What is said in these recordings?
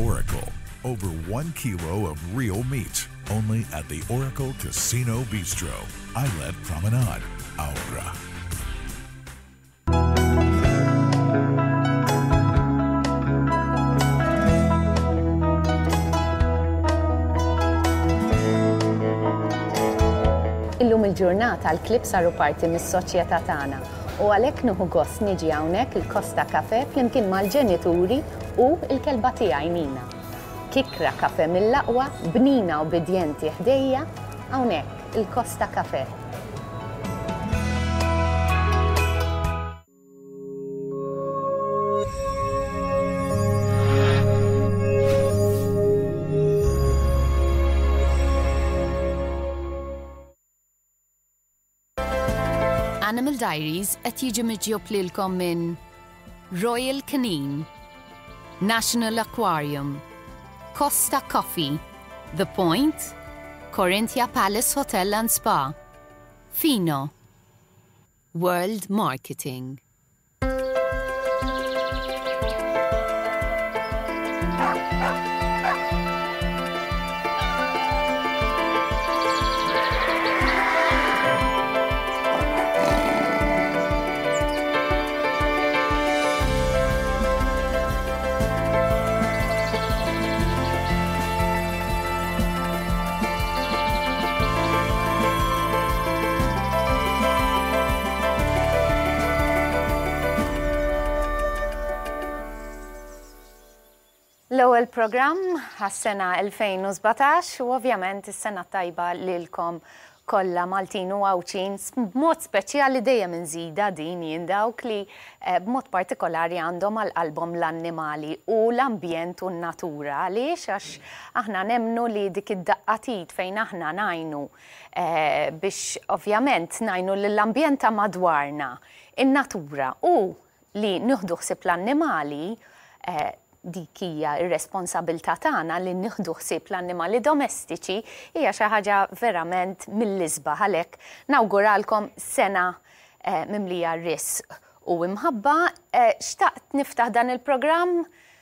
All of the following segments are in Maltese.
Oracle. Over one kilo of real meat. Only at the Oracle Casino Bistro, Islet Promenade, Aura. Illum il-ġurnata l-klieb saru parti mis-soċjetà tagħna u għalhekk nieħu gost niġi hawnhekk il-Costa Cafe flimkien mal-ġenituri u l-kelba tiegħi Nina. Kikkra kafè mill-aqwa, bnina ubbidjenti ħdejja, hawnhekk il-Costa Cafe. Animal Diaries qed jiġi miġjub lilkom minn Royal Canin, National Aquarium, Costa Coffee, The Point, Corinthia Palace Hotel and Spa, Fino, World Marketing. L-ewwel programm għas-sena 2017 u ovvjament is-sena tajba lilkom kollha Maltin u Għawdxin b'mod speċjali dejjem inżida din jien dawk li eh, b'mod partikolari għandhom għal qalbhom l-annimali u l-ambjent u n-natura. Għaliex għax aħna nemmnu li dik id-daqqa t'id fejn aħna ngħinu eh, biex ovvjament ngħinu lill-ambjent ta' madwarna, in-natura u li nieħdu ħsieb l-annimali, eh, dik hija r-responsabilità tagħna li nieħdu ħsieb l-annimali domestiċi hija xi ħaġa verament mill-isbaħ għalhekk nawguralkom sena eh, mimlija risq u imħabba. Eh, xtaqt niftaħ dan il-programm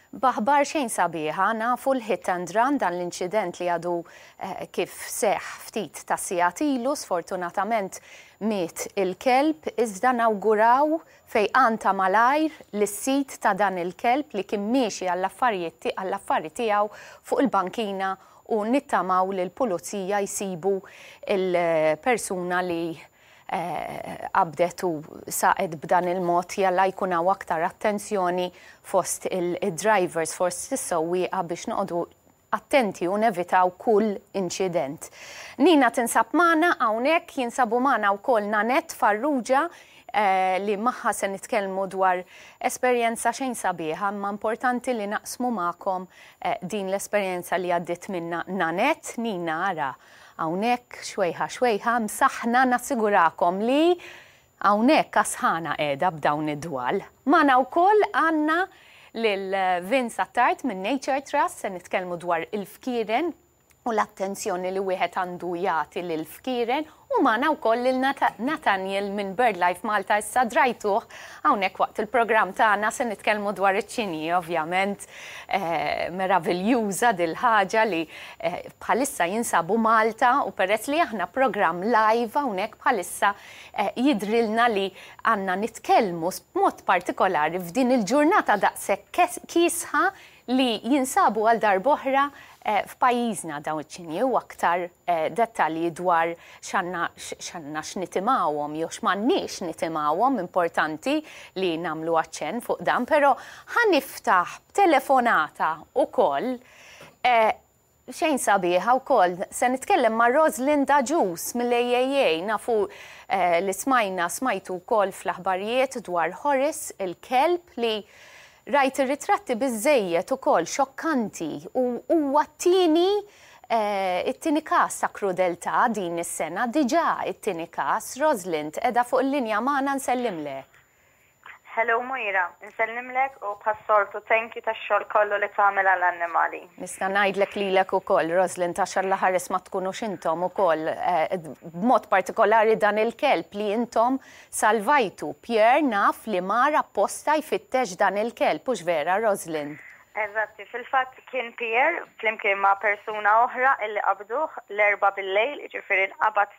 b'aħbar xejn sabiħa, nafu l-hit and run dan l-inċident li għadu eh, kif seħ ftit ta' sigħat ilu, sfortunatament miet il-kelb, iżda nawguraw fejqan ta' malajr lis-sid ta' dan il-kelb li kien miexi għall-affarijiet għall-affari tiegħu fuq il-bankina u nittamaw li l-pulizija jsibu il-persuna li eh, qabdet u saqet b'dan il-mod jalla jkun hawn aktar attenzjoni fost il-drivers, fost is-sewwieqa biex noqogħdu attenti u nevitaw kull inċident. Nina tinsab magħna hawnhekk, jinsabu magħna wkoll Nanette Farrugia eh, li magħha se nitkellmu dwar esperjenza xejn sabiħa, imma importanti li naqsmu magħkom eh, din l-esperjenza li għaddiet minna Nanette. Nina ara hawnhekk xwejħa xwejħa msaħna nassigurakom li hawnhekk għas-sħana qiegħda b'dawn id-dwal. Magħna wkoll għandna lil Vince Attard minn Nature Trust se nitkellmu dwar il-fkieren u l-attenzjoni li wieħed għandu jagħti lil fkieren u magħna wkoll lil Nathaniel minn BirdLife Malta issa drajtuh hawnhekk waqt il-programm tagħna se nitkellmu dwar iċ-ċinji ovvjament eh, meraviljuża dil-ħaġa li eh, bħalissa jinsabu Malta u peress li aħna programm live hawnhekk bħalissa eh, jidrilna li għandna nitkellmu b'mod partikolari f'din il-ġurnata daqshekk kiesħa li jinsabu għal darb'oħra eh, f'pajjiżna dawn iċ-ċinji u aktar eh, dettalji dwar x'għandna x'għandna x'nitimgħuhom jew x'm'għandniex nitimgħuhom importanti li nagħmlu aċċenn fuq dan, però ħa niftaħ b'telefonata ukoll eh, xejn sabiħa wkoll. Se nitkellem ma' Rosalind Agius mill-AAA nafu eh, li smajna smajtu wkoll fl-aħbarijiet dwar Horace il-kelb li rajt ir-ritratti biżejjed ukoll xokkanti u huwa t-tieni eh, it-tieni każ ta' krudeltà din is-sena diġà it-tieni każ. Rosalind qiegħda fuq il-linja magħna nsellimlek. Hello Moira, nsellimlek u bħas-soltu thank you tax-xogħol kollu li tagħmel għall-annimali. Nista' ngħidlek lilek ukoll, Rosalind, għax Alla ħares ma tkunux intom ukoll, eh, b'mod partikolari dan il-kelb li intom salvajtu. Pierre naf li mar apposta jfittex dan il-kelb, hux vera, Rosalind? Eżatti, fil-fatt kien Pierre flimkien ma' persuna oħra illi qabduh l-Erbgħa bil-lejl, jiġifieri nqabad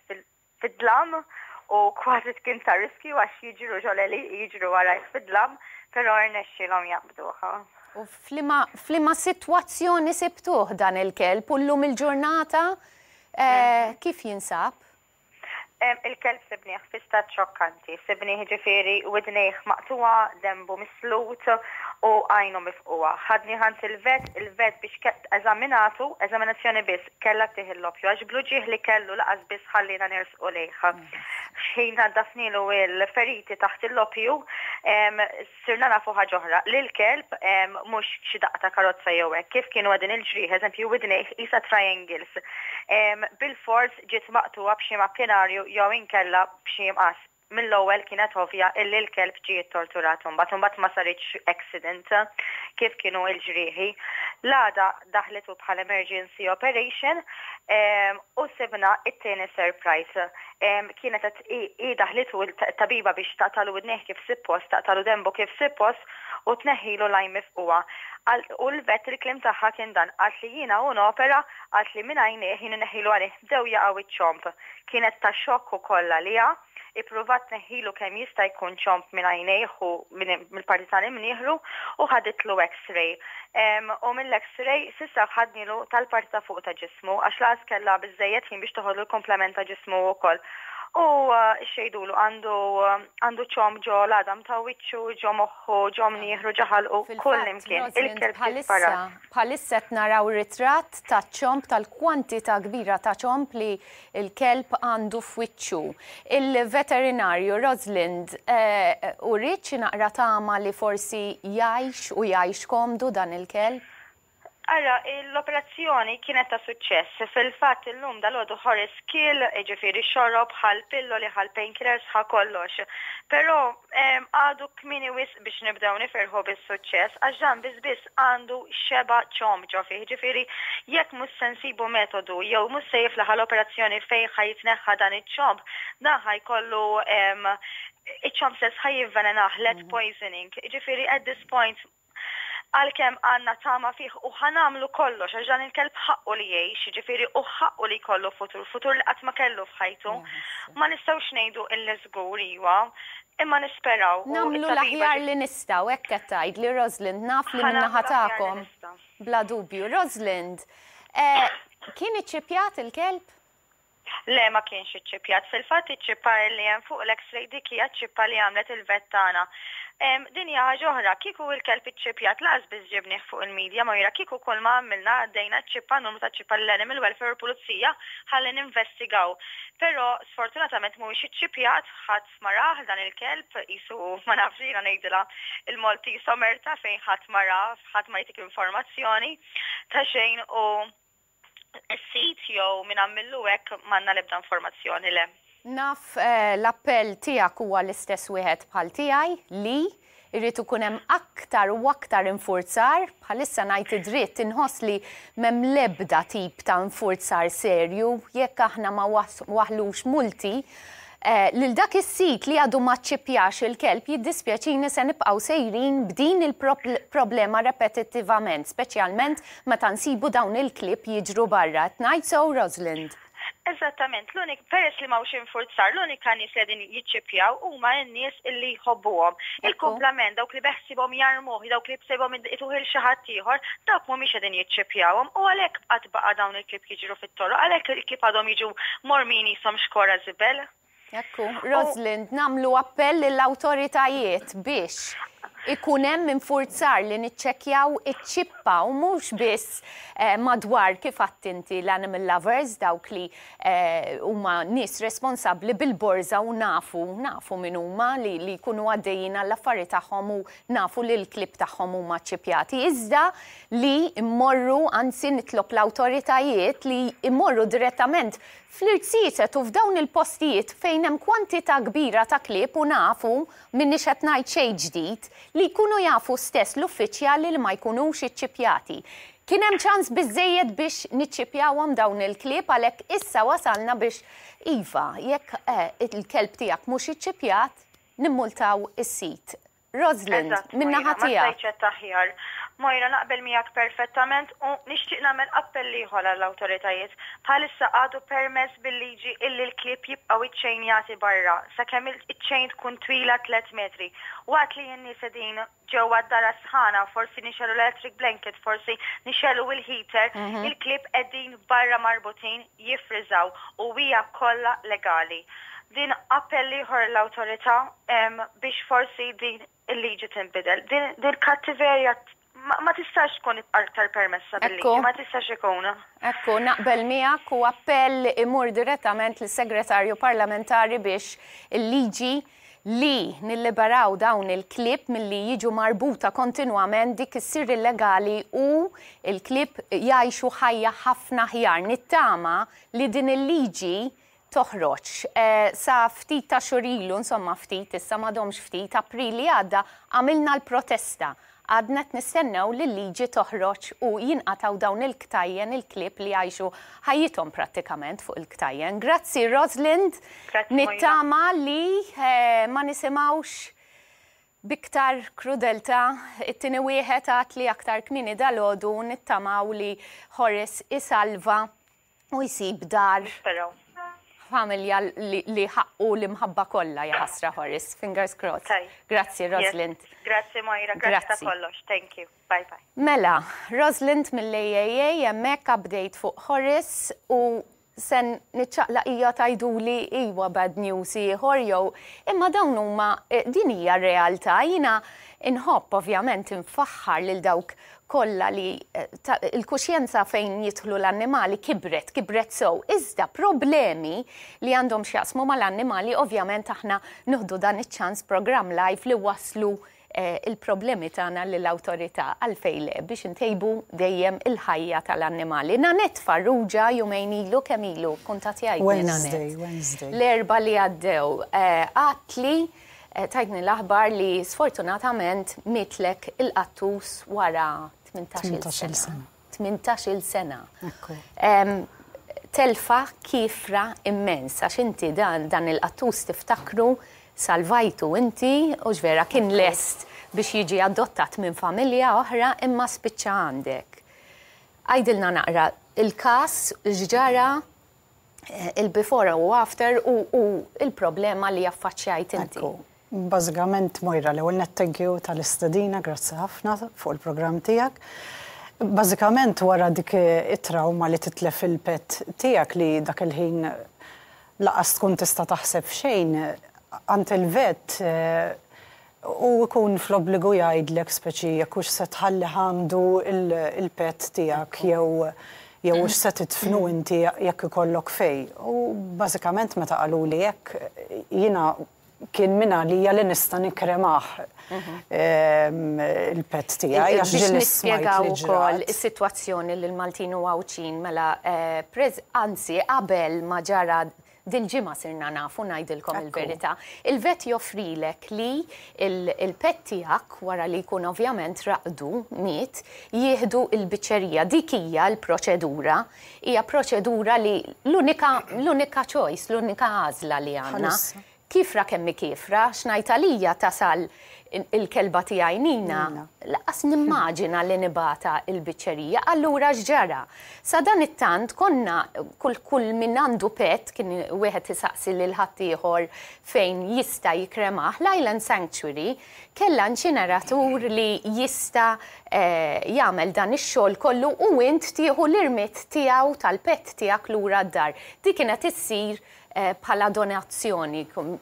fid-dlam u kważi kien ta' riskju għax jiġru ġol-għelieqi, jiġru warajh fid-dlam, però rnexxielhom jaqbduh. U f'liema f'liema sitwazzjoni sibtuh dan il-kelb u llum il-ġurnata kif jinsab? Il-kelb sibnieh fi stat xokkanti. Sibnieh jiġifieri widnejh maqtugħa, denbu mislut u għajnu mifqugħa. Ħadnieh għand il-vet, il-vet biex eżaminatu, eżaminazzjoni biss, kellha ttih il-loppju għax bl-uġigħ li kellu laqas biss ħalliena nersqu lejh. X'ħin naddafnielu l-feriti taħt il-loppju, Sirna nafu ħaġa oħra, li l-kelb mhux xi daqqa ta' karozza jew hekk, kif kienu qegħdin il-ġrieħi, eżempju widnejh qisha triangles, bilfors ġiet maqtugħa b'xi makkinarju jew inkella b'xi mqass. Mill-ewwel kienet ovvja illi l-kelb ġie ttorturat imbagħad, imbagħad ma saritx accident kif kienu l-ġrieħi. L-għada daħlitu bħal emergency operation u sibna it-tieni surprise. Kienet qed hi daħlitu t-tabiba biex taqtagħlu widnejh kif sippost, taqtagħlu denbu kif sippost u tneħħilu l-għajn mifqugħa. U l-vet il-kliem tagħha kien dan, qaltli jiena u nopera, qaltli minn għajnejh jien inneħħilu għajnejh bdew jaqgħu iċ-ċomb. Kienet ta' xokk ukoll għaliha. Ippruvat tneħħilu kemm jista' jkun ċomb minn għajnejh u mill-parti tal-imnieħru u ħaditlu x-ray. U mill-x-ray s'issa ħadnilu tal-parti ta' fuq ta' ġismu għax lanqas kellha biżżejjed ħin biex toħodlu l-komplement ta' ġismu wkoll. U x'jgħidulu għandu għandu ċomb ġo l-għadam ta' wiċċu, ġo moħħu, ġo mnieħru, ġo ħalqu, kull imkien. Il-kelb ġie sparat. Bħalissa qed naraw ritratt taċ-ċomb tal-kwantità kbira ta' ċomb li l-kelb għandu f'wiċċu. Il-veterinarju Rosalind uriet xi naqra tama li forsi jgħix u jgħix komdu dan il-kelb? Ara, l-operazzjoni kienet ta' suċċess. Fil-fatt illum dalgħodu Horace kiel, jiġifieri xorob, ħa l-pilloli, ħa l-painkillers, ħa kollox. Però għadu kmieni wisq biex nibdew nifirħu bis-suċċess għax dan biss biss għandu xebgħa ċomb ġo fih. Jiġifieri jekk mhux se nsibu metodu jew mhux se jiflaħ għal operazzjoni fejn ħa jitneħħa dan iċ-ċomb, dan ħa jkollu iċ-ċomb stess ħa jivvelenah, lead poisoning. Jiġifieri at this point Għalkemm għandna tama fih u ħa nagħmlu kollox għax dan il-kelb ħaqqu li jgħix, jiġifieri u ħaqqu li jkollu futur, futur li qatt ma kellu f'ħajtu. Ma nistgħux ngħidu illi żgur iwa, imma nisperaw u Nagħmlu l-aħjar li nistgħu, hekk qed tgħidli Rosalind, naf li min-naħa tagħkom bla dubju. Rosalind, kien iċċippjat il-kelb? Le ma kienx iċċippjat. Fil-fatt iċ-ċippa li hemm fuq l-X-ray dik hija ċ-ċippa li għamlet il-vet tagħna. Din hija ħaġa oħra, kieku il-kelb iċċippjat lanqas biss ġibnieh fuq il-media Moira, kieku kull ma għamilna għaddejna ċ-ċippa, numru taċ-ċippa lill-Animal Welfare u l-Pulizija ħalli ninvestigaw. Però sfortunatament mhuwiex iċċippjat, ħadd ma rah dan il-kelb, qisu ma nafx jiena ngħidilha il-Maltese omerta fejn ħadd ma rah, ħadd ma jtik informazzjoni ta' xejn u is-sid jew min għamillu hekk m'għandna l-ebda informazzjoni le. Naf l-appell tiegħek huwa l-istess wieħed bħal tiegħi li jrid ikun hemm aktar u aktar infurzar, bħalissa ngħid id-dritt inħoss li m'hemm l-ebda tip ta' infurzar serju jekk aħna ma waħħlux multi Lil dak is-sid li għadu ma ċċippjax il-kelb jiddispjaċini se nibqgħu sejrin b'din il-problema repetittivament, speċjalment meta nsibu dawn il-klieb jiġru barra. Qed ngħid sew Rosalind? Eżattament, l-unik, peress li m'hawnx infurzar, l-unika nies li qegħdin jiċċippjaw huma n-nies illi jħobbuhom. Il-kumplament, dawk li beħsiebhom jarmuh, dawk li bsebhom ituh il xi ħadd ieħor, dawk mhumiex qegħdin jiċċippjawhom u għalhekk qatt baqa' dawn il-klieb jiġru fit-toroq, għalhekk il-klieb għadhom jiġu mormin qishom xkora żibel. Ekku, Rosalind, nagħmlu appell lill-awtoritajiet biex ikun hemm infurzar li niċċekkjaw iċ-ċippa u mhux biss eh, madwar kif għedt inti l-animal lovers dawk li eh, huma nies responsabbli bil-borża u nafu nafu min huma li, li jkunu għaddejjin għall-affari tagħhom u nafu li l-klieb tagħhom huma ċċippjati, iżda li mmorru, anzi nitlob l-awtoritajiet li jmorru direttament fl-irziezet u f'dawn il-postijiet fejn hemm kwantità kbira ta' klieb u nafu, m'iniex qed ngħid xejn ġdid, li jkunu jafu stess l-uffiċjali li ma jkunux iċċippjati. Kien hemm ċans biżżejjed biex niċċippjawhom dawn il-klieb għalhekk issa wasalna biex iva, jekk il-kelb tiegħek mhux iċċippjat, nimmultaw is-sid. Rosalind, Eżatt, min-naħa Moira, ma tiegħek. stajtx għedt aħjar. Moira, naqbel miegħek perfettament u nixtieq nagħmel appell ieħor għall-awtoritajiet. Bħalissa għadu permess bil-liġi illi l-klieb jibqgħu iċċejnjati barra sakemm iċ-chain tkun twila tlett metri. Waqt li n-nies qegħdin ġewwa d-dar għas-sħana, forsi nixegħlu l-electric blanket, forsi nixegħlu il-heater, il-klieb qegħdin barra marbutin jiffriżaw u hija kollha legali. Din appell ieħor l-awtorità biex forsi din il-liġi tinbidel. Din il-kattiverja ma tistax tkun aktar permessa bil-liġi, ma tistax ikun. Ekku, naqbel miegħek u appell imur direttament lis-Segretarju Parlamentari biex il-liġi li nilliberaw dawn il-klieb milli jiġu marbuta kontinwament dik issir illegali u l-klieb jgħixu ħajja ħafna aħjar. Nittama li din il-liġi toħroġ. Sa ftit ta' xhur ilu, insomma ftit, issa m'għadhomx ftit, April li għadda għamilna l-protesta. Għadna qed nistennew li l-liġi toħroġ u jinqatgħu dawn il-ktajjen, il-klieb li jgħixu ħajjithom prattikament fuq il-ktajjen. Grazzi Rosalind, nittama li ma nisimgħux b'iktar krudeltà. It-tieni wieħed għad li aktar kmieni dalgħodu nittamaw li Horace isalva u jsib dar. Nisperaw. Familja li ħaqqu l-imħabba kollha jaħasra Horace. Fingers crossed. Tajjeb. Grazzi Rosalind. Yes. Grazzi Moira, grazzi ta' kollox. Thank you. Bye bye. Mela, Rosalind mill-AAA hemmhekk update fuq Horace u sen niċċaqlaq hija tgħiduli iwa bad news ieħor jew imma dawn huma din hija r-realtà jiena inħobb ovvjament infaħħar lil dawk kollha li il-kuxjenza fejn jidħlu l-annimali kibret, kibret sew. Iżda problemi li għandhom x'jaqsmu mal-annimali ovvjament aħna nieħdu dan iċ-ċans programm live li waslu il-problemi tagħna lill-awtorità għalfejn le biex intejbu dejjem il-ħajja tal-annimali. Nanette Farrugia jumejn ilu kemm ilu kuntattjajtni Nanette. Wednesday, Wednesday. L-Erbgħa li għaddew għadtli Tajtni l-aħbar li sfortunatament mietlek il-qattus wara 18-il sena. 18-il sena. Ekku. Telfa kiefra immens, għax inti dan, dan il-qattus tiftakru salvajtu inti, u vera kien lest biex jiġi adottat minn familja oħra imma spiċċa għandek. Għidilna naqra il-każ, x'ġara, il-before u after u il-problema li affaċċjajt inti. Ekku. Bażikament Moira, l-ewwel nett thank you tal-istedina, grazzi ħafna fuq il-programm tiegħek. Bażikament wara dik it-trauma li titlef il-pet tiegħek li dak il-ħin laqas tkun tista' taħseb f'xejn, għand il-vet Hu jkun fl-obbligu jgħidlek speċi jekk hux se tħallih għandu l-pet tiegħek jew jew hux se tidfnu inti jekk ikollok fejn. U bażikament meta qaluli hekk jiena kien mingħalija li nista' nikkremah il-pet tiegħi għax Biex ġieli smajt nispjegaw li ukoll ġrat. is-sitwazzjoni lill-Maltin u Għawdxin mela anzi qabel ma ġara Dil-ġimgħa sirna nafu, ngħidilkom il-verità. Il-vet joffrilek li l-pet tiegħek, wara li jkun ovvjament raqdu, miet, jieħdu l-biċċerija. Dik hija l-proċedura. Hija proċedura li l-unika l-unika choice, l-unika għażla li għandna. Kiefra kemm hi kiefra, x'ngħid għalija tasal il-kelba tiegħi Nina, lanqas nimmaġina li nibgħatha l-biċċerija. Allura x'ġara? Sadanittant konna kull kull min għandu pet kien wieħed isaqsi lil ħaddieħor fejn jista' jikkremah, l-Island Sanctuary kellha inċineratur li jista' jagħmel dan ix-xogħol kollu u int tieħu l-irmied tiegħu tal-pet tiegħek lura d-dar. Dik kienet issir bħala donazzjoni,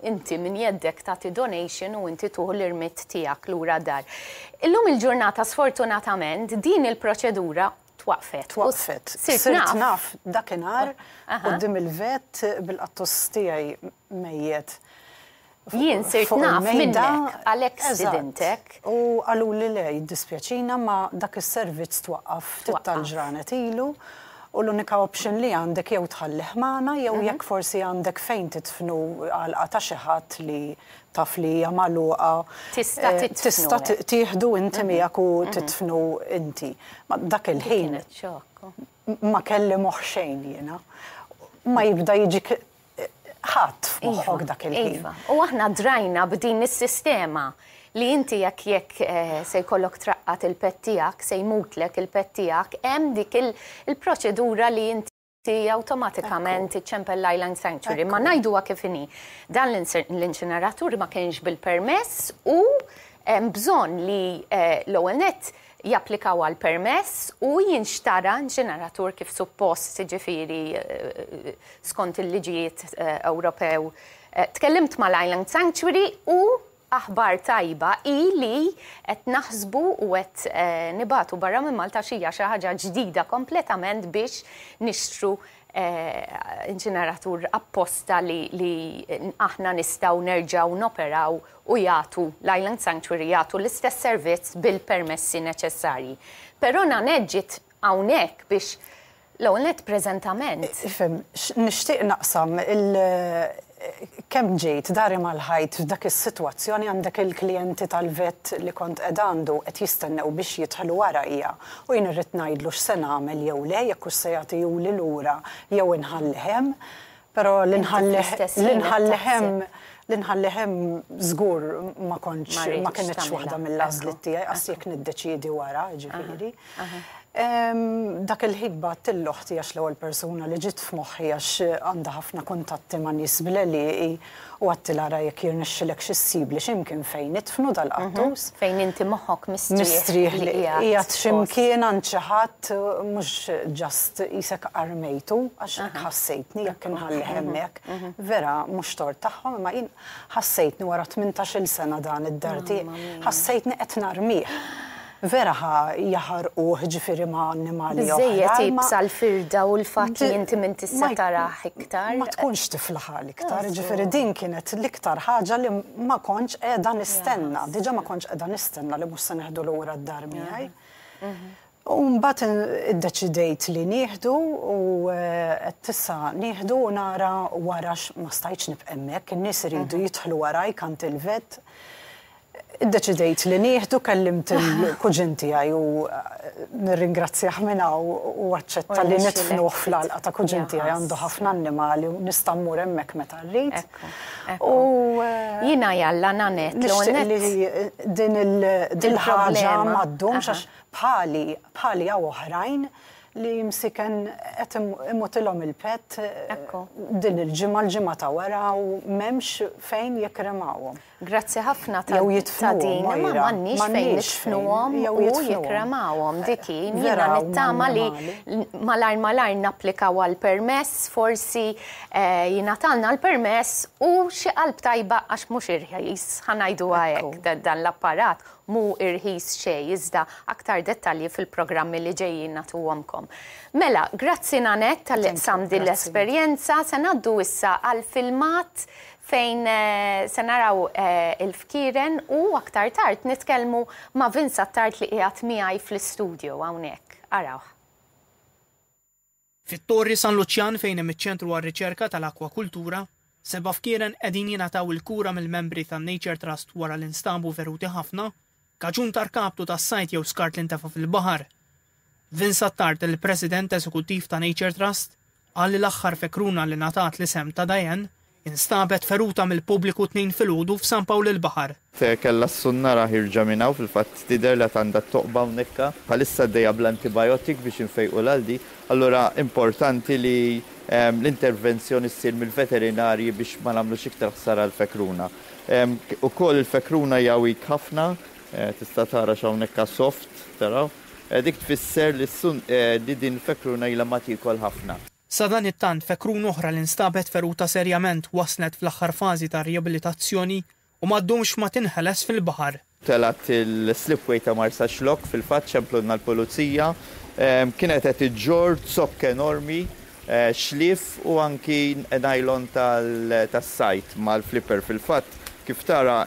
inti minn jeddek tagħti donation u inti tuħu l-irmied tiegħek lura dar. Illum il-ġurnata sfortunatament din il-proċedura twaqqfet. Twaqqfet. Sirt naf dakinhar quddiem il-vet bil-qattus tiegħi mejjet. Jien sirt naf minnek għalhekk stidintek. U qaluli le, jiddispjaċina ma dak is-servizz twaqqaf ftit tal-ġranet ilu u l-unika option li għandek jew tħallih magħna jew jekk forsi għandek fejn tidfnu għalqa ta' xi ħadd li taf li hija magħluqa. Tista' tidfnu. Tista' tieħdu inti miegħek u tidfnu inti. Ma dak il-ħin ma kelli moħħ xejn jiena. Ma jibda jiġik ħadd f'moħħok dak il-ħin. Iva, u aħna drajna b'din is-sistema. Li inti jekk jekk se jkollok traqqad il-pet tiegħek, se jmutlek il-pet tiegħek, hemm dik il-proċedura li inti awtomatikament iċċempel l-Island Sanctuary. Ma ngħiduha kif inhi. Dan l-inċineratur ma kienx bil-permess u hemm bżonn li l-ewwel nett japplikaw għal permess u jinxtara inċineratur kif suppost, jiġifieri skont il-liġijiet Ewropew. Tkellimt mal-Island Sanctuary u aħbar tajba hi li qed naħsbu u qed nibagħtu barra minn Malta għax hija xi ħaġa ġdida kompletament biex nixtru inċineratur apposta li li aħna nistgħu nerġgħu noperaw u jagħtu l-Island Sanctuary jagħtu l-istess servizz bil-permessi neċessarji. Però Nanette ġiet hawnhekk biex L-ewwel nett preżentament. Ifhem, nixtieq naqsam il kemm ġejt dari mal-ħajt f'dak is-sitwazzjoni għandek il-klijenti tal-vet li kont qiegħda għandu qed jistennew biex jidħlu warajja u jien irrid ngħidlu x'se nagħmel jew le, jekk hux se jagħtihuli lura jew inħallih hemm. Però li nħallih li nħallih hemm li nħallih hemm żgur ma kontx ma kinitx waħda mill-għażliet tiegħi qas jekk niddeċiedi wara, jiġifieri. Dak il-ħin bgħatt lil oħti għax l-ewwel persuna li ġiet f'moħħi għax għandha ħafna kuntatti ma' nies bl-għelieqi u għedtilha ara jekk jirnexxilekx issibli xi mkien fejn nidfnu dal-qattus. Fejn inti moħħok mistrieħ li qiegħed xi mkien għand xi ħadd mhux just qisek armejtu għax hekk ħassejtni jekk inħallih hemmhekk. Vera mhux tort tagħhom imma jien ħassejtni wara 18-il sena dan id-dar tiegħi, ħassejtni qed narmih. Vera ħa jaħarquh ġifieri ma' annimali oħra. Biżżejjed iebsa l-firda u l-fatt li inti m'intix se tarah iktar. Ma tkunx tiflaħ għal iktar, ġifieri din kienet l-iktar ħaġa li ma kontx qiegħda nistenna. Diġà ma kontx qiegħda nistenna li mhux se neħdu lura d-dar miegħi. U mbagħad iddeċidejt li nieħdu u għedt issa nieħdu u nara wara ma stajtx nibqa' hemmhekk, in-nies iridu jidħlu warajk għand il-vet. Iddeċidejt li nieħdu, kellimt il-kuġin tiegħi u nirringrazzjah minn hawn u aċċetta li nidfnuh fl-għalqa ta' kuġin tiegħi għandu ħafna annimali u nista' mmur hemmhekk meta rrid. U jiena jalla Nanette. Nixtieq li din il-ħaġa ma ddumx għax bħali bħali hawn oħrajn li msiken qed imutilhom il-pet din il-ġimgħa l-ġimgħa ta' wara u m'hemmx fejn jikkremawhom. Grazzi ħafna ta' din, imma m'għandniex fejn nidfnuhom u jikkremawhom. Dik hi, jiena nittama li malajr malajr napplikaw għall-permess, forsi jingħatalna l-permess u xi qalb tajba għax mhux irħis, ħa ngħiduha hekk, dan l-apparat mhu irħis xejn, iżda aktar dettalji fil-programmi li ġejjin nagħtuhomkom. Mela, grazzi Nanette talli qsamt din l-esperjenza, se ngħaddu issa għall-filmat fejn se naraw il-fkieren u aktar tard nitkellmu ma' Vince Attard li qiegħed miegħi fl-istudio hawnhekk. Arawh. Fit-Torri San Luċjan fejn hemm iċ-Ċentru għar-Riċerka tal-Akwakultura, seba' fkieren qegħdin jingħataw il-kura mill-membri tan-Nature Trust wara li nstabu feruti ħafna kaġun ta' rkaptu tas-sajd jew skart li ntefa' fil-baħar. Vince Attard, il-President Eżekuttiv ta' Nature Trust, qal li l-aħħar fekruna li ngħatat l-isem ta' Diane instabet feruta mill-pubbliku t-Tnejn filgħodu f'San Pawl il-Baħar. Kellha s-sunnara ħierġa minn hawn, fil-fatt tidher li għad għandha t-toqba hawnhekk. Bħalissa għaddejja bl-antibiotic biex infejqulha l-di. Allura importanti li l-intervenzjoni ssir mill-veterinarji biex ma nagħmlux iktar ħsara għall-fekruna. Ukoll il-fekruna hija weak ħafna, tista' tara x'hawnhekk soft, taraw. Dik tfisser li li din il-fekruna ilha ma tiekol ħafna. Sadanittant, fekruna oħra li nstabet feruta serjament waslet fl-aħħar fażi tar-riabilitazzjoni u ma ddumx ma tinħeles fil-baħar. Telgħet il-slipway ta' Marsaxlokk, fil-fatt ċemplulna l-pulizija. Kienet qed iġġorr zokk enormi, xlief u anki nylon tas-sajd mal-flipper. Fil-fatt, kif tara,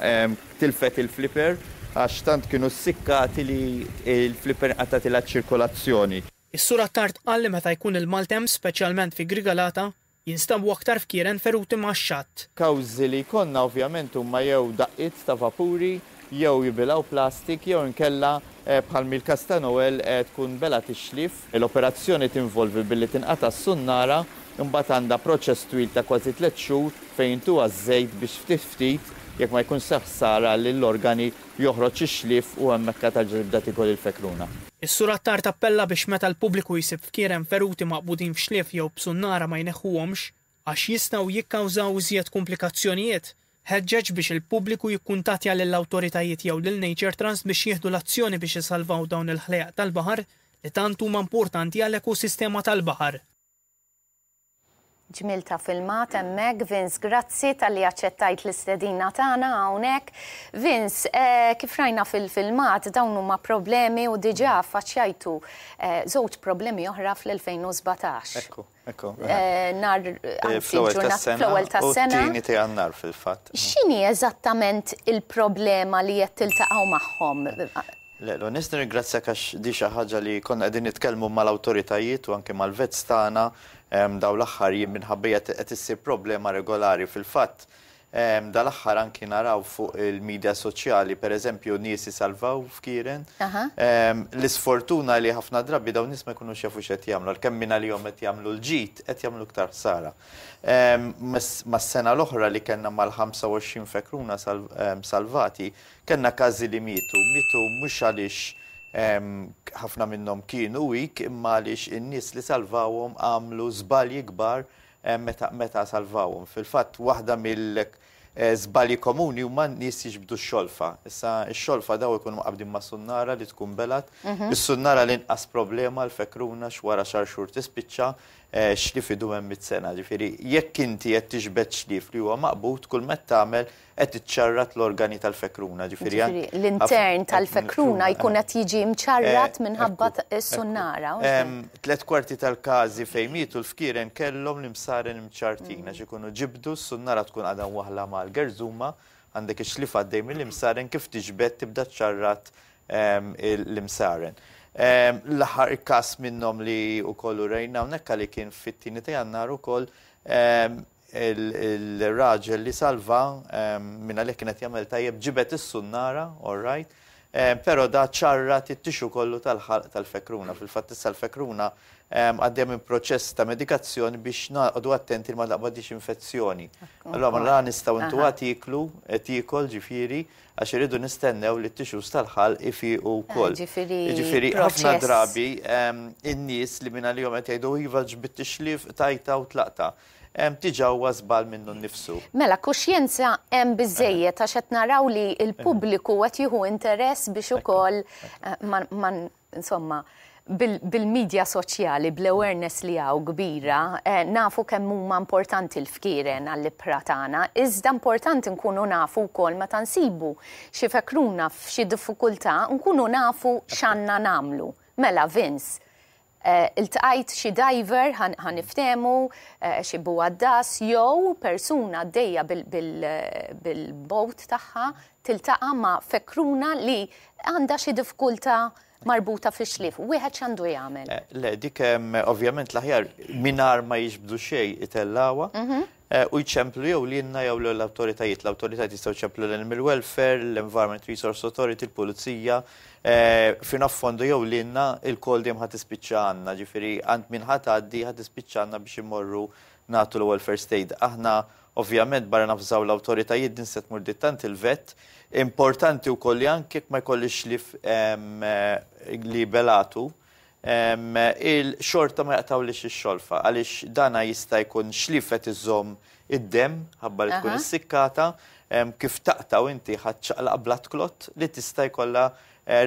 tilfet il-flipper għax tant kienu ssikkati li l-flipper inqatgħatilha ċ-ċirkolazzjoni. Is-Sur Attard qal li meta jkun il-maltemp, speċjalment fi Grigalata, jinstabu aktar fkieren feruti max-xatt. Kawżi li jkollna ovvjament huma jew daqqiet ta' vapuri, jew jibilgħu plastik, jew inkella bħal mill-każ ta' Noel tkun belgħet ix-xlief. L-operazzjoni tinvolvi billi tinqata' s-sunnara, imbagħad għandha proċess twil ta' kważi tlett xhur fejn intuha ż-żejt biex ftit ftit jekk ma jkunx sar ħsara lill-organi joħroġ ix-xlief u hemmhekk terġa' tibda tiekol il-fekruna. Is-Sur Attard appella biex meta l-pubbliku jsib fkieren feruti maqbudin f'xlief jew b'sunnara ma jneħħuhomx għax jistgħu jikkawżaw iżjed kumplikazzjonijiet. Ħeġġeġ biex il-pubbliku jikkuntattja lill-awtoritajiet jew lil Nature Trust biex jieħdu l-azzjoni biex isalvaw dawn il-ħlejjaq tal-baħar li tant huma importanti għall-ekosistema tal-baħar. Ġmiel ta' filmat hemmhekk, Vince grazzi talli aċċettajt l-istedina tagħna hawnhekk. Vince, kif rajna fil-filmat dawn huma problemi u diġà affaċċjajtu żewġ problemi oħra fl-2017. Ekku, ekku. Nhar, anzi l-ġurnata fl-ewwel tas-sena. U t-tieni ta' Jannar fil-fatt. X'inhi eżattament il-problema li qed tiltaqgħu magħhom? Le, l-onest nirringrazzjak għax di xi ħaġa li konna qegħdin nitkellmu mal-awtoritajiet u anke mal-vets tagħna dawn l-aħħar jiem minħabba hija qed issir problema regolari. Fil-fatt, dal-aħħar anki naraw fuq il-media soċjali, pereżempju, nies isalvaw fkieren. L-isfortuna li ħafna drabi dawn nies ma jkunux jafu x'qed jagħmlu, għalkemm mingħalihom qed jagħmlu l-ġid, qed jagħmlu iktar ħsara. Mas-sena l-oħra li kellna mal-25 fekruna salvati, Kellna każi li mietu. Mietu mhux għaliex ħafna minnhom kienu weak imma għaliex in-nies li salvawhom għamlu żbalji kbar meta meta salvawhom. Fil-fatt waħda mill żbalji komuni huma n-nies jiġbdu x-xolfa. Issa x-xolfa dawn ikunu mqabbdin ma' sunnara li tkun belgħet. Is-sunnara l-inqas problema l-fekruna x'wara xahar xhur tispiċċa, xlief idum hemm mitt sena. Ġifieri jekk inti qed tiġbed xlief li huwa maqbud kull ma qed tagħmel qed iċċarrat l-organi tal-fekruna, ġifieri anke. Ġifieri l-intern tal-fekruna jkun qed jiġi mċarrat minħabba s-sunnara. Tlett kwarti tal-każi fejn mietu l-fkieren kellhom l-imsaren imċarrtin għax ikunu ġibdu, s-sunnara tkun għadha mwaħħla mal-gerżuma, għandek ix-xlief għaddej mill-imsaren kif tiġbed tibda ċċarrat l-imsaren. L-aħħar każ minnhom li wkoll urejna hawnhekk li kien fit-tieni ta' Jannar ukoll il-raġel li salva minn għalih kien qed jagħmel tajjeb ġibed is-sunnara, all right, però da ċarrat it-tixu kollu tal-ħalq tal-fekruna. Fil-fatt issa l-fekruna għaddejja minn proċess ta' medikazzjoni biex noqogħdu attenti li ma taqbadhiex infezzjoni. Allura ma la nistgħu ntuha tieklu, tiekol ġifieri, għax irridu nistennew li t-tissues tal-ħalq ifiqu wkoll. Ġifieri ħafna drabi in-nies li minn għalihom qed jgħidu iva ġbidt ix-xlief, qtajtha u tlaqtha. Diġà huwa żball minnu nnifsu. Mela, kuxjenza hemm biżżejjed għax qed naraw li l-pubbliku qed jieħu interess biex ukoll ma insomma, bil-media soċjali, bl-awareness li hawn kbira, nafu kemm huma importanti l-fkieren għall-ibħra tagħna, iżda importanti nkunu nafu wkoll meta nsibu xi fekruna f'xi diffikultà, nkunu nafu x'għandna nagħmlu. Mela, Vince, Iltqajt xi diver, ħa niftehmu, xi bugħaddas jew persuna għaddejja bil-boat tagħha tiltaqa' ma' fekruna li għandha xi diffikultà marbuta fix-xlief. Wieħed x'għandu jagħmel? Le, dik ovvjament l-aħjar mingħajr ma jiġbdu xejn itellgħuha. U jċemplu jew lilna jew lill-awtoritajiet. L-awtoritajiet jistgħu jċemplu l-Animal Welfare, l-Environment Resource Authority, il-Pulizija, fino a fondo jew lilna, il-call dejjem ħa tispiċċa għandna, ġifieri għand min ħa tgħaddi ħa tispiċċa għandna biex immorru nagħtu l-ewwel first aid. Aħna ovvjament barra navżaw l-awtoritajiet din se tmur dittant il-vet. Importanti wkoll li anke jekk ma jkollix xlief li belatu, Il-xorta ma jaqtgħulix ix-xolfa għaliex dana jista' jkun xlief qed iżomm id-demm ħabba li tkun issikkata, kif taqtgħu inti ħa ċċaqlaq blood clot li tista' jkollha